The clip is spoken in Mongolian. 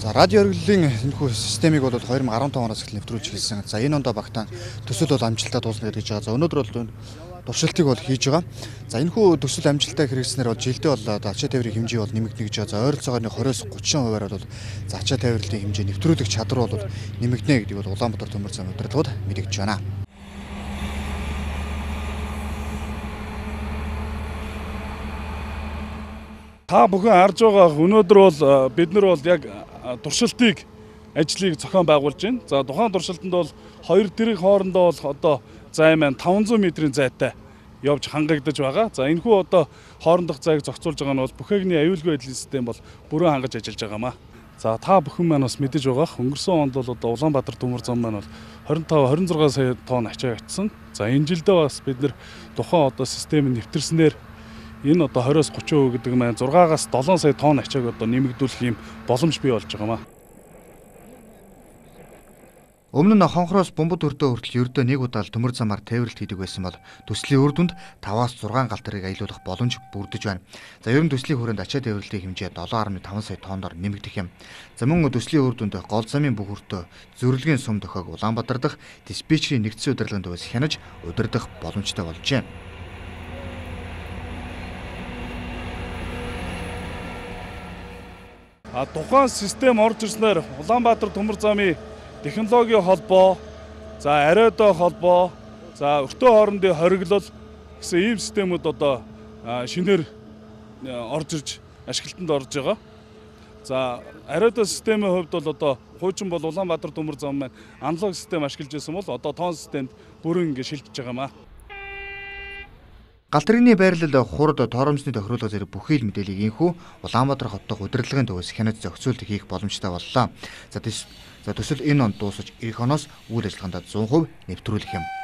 За радио оргилын энэхүү системийг бол 2015 оноос эхлэн нэвтрүүлж эхэлсэн. За энэ ондоо багтаан төсөл бол амжилттай дуусна гэж байгаа. За өнөөдөр бол туршилтыг бол хийж байгаа. За энэхүү төсөл амжилттай хэрэгжснээр бол жилдээ бол ачаа тээврийн хэмжээ бол нэмэгдэнэ гэж байгаа. За ойролцоогоор 20-30%-аар бол ачаа тээврийн хэмжээ нэвтрүүлэх чадвар бол нэмэгдэнэ гэдэг бол Улаанбаатар төмөр зам удирдлагууд мэдэгдэж байна. Та бүхэн харж байгаа өнөөдөр бол бид нар бол яг туршилтыг ажлыг зохион байгуулж байна. За тухайн туршилтанд бол хоёр тэрэг хоорондоо бол одоо зай маань 500 м-ийн зайтай явж хангагдаж байгаа. За энэхүү одоо хоорондох зайг зохицуулж байгаа нь бол бүхээгний аюулгүй байдлын систем бол бүрэн хангаж ажиллаж байгаамаа. За та бүхэн маань бас мэдэж байгаа. Өнгөрсөн онд бол одоо Улаанбаатар төмөр зам маань бол 25-26 сая тонн ачаа авчсан. За энэ жилдээ бас бид нар тухайн одоо системийг нэвтэрснээр энэ одоо 20-30% гэдэг маань 6-аас 7 сая тонн ачааг одоо нэмэгдүүлэх юм боломж бий болж байгаамаа. Өмнө нь хонхроос бомбод өртөө хүртэл ердөө нэг удаа төмөр замаар тээвэрлэлт хийдэг байсан бол төслийн үр дүнд 5-аас 6 галтрыг аялуулах боломж бүрдэж байна. За ер нь төслийн хүрээнд ачаа тээвэрлэлтийн хэмжээ 7.5 сая тонноор нэмэгдэх юм. За мөн төслийн үр дүнд гол замын бүх өртөө зөвлөгийн сум дохиог Улаанбаатар дахь диспетчерийн нэгдсэн удирдлагын дөрвөөс хянаж удирдах боломжтой болжээ. Тухайн систем орж ирснээр Улаанбаатар төмөр замын технологийн холбоо, за ариодоо холбоо, за өртөө хоорондын хориглол гэсэн ийм системүүд одоо шинээр орж ирж ашиглалтанд орж байгаа. За ариодоо системийн хувьд бол одоо хуучин бол Улаанбаатар төмөр зам маань аналог систем ашиглаж байсан бол одоо тоон системд бүрэн ингэ шилжиж байгаамаа. Галтрын байрлал хурд торомсны тохируулга зэрэг бүхий л мэдээллийг инхүү Улаанбаатар хот дахь удирдлагын дөрвөөс хянаж зохицуулт хийх боломжтой боллоо. За төсөл энэ онд дуусаж ирэх оноос үйл ажиллагаанд 100% нэвтрүүлэх юм.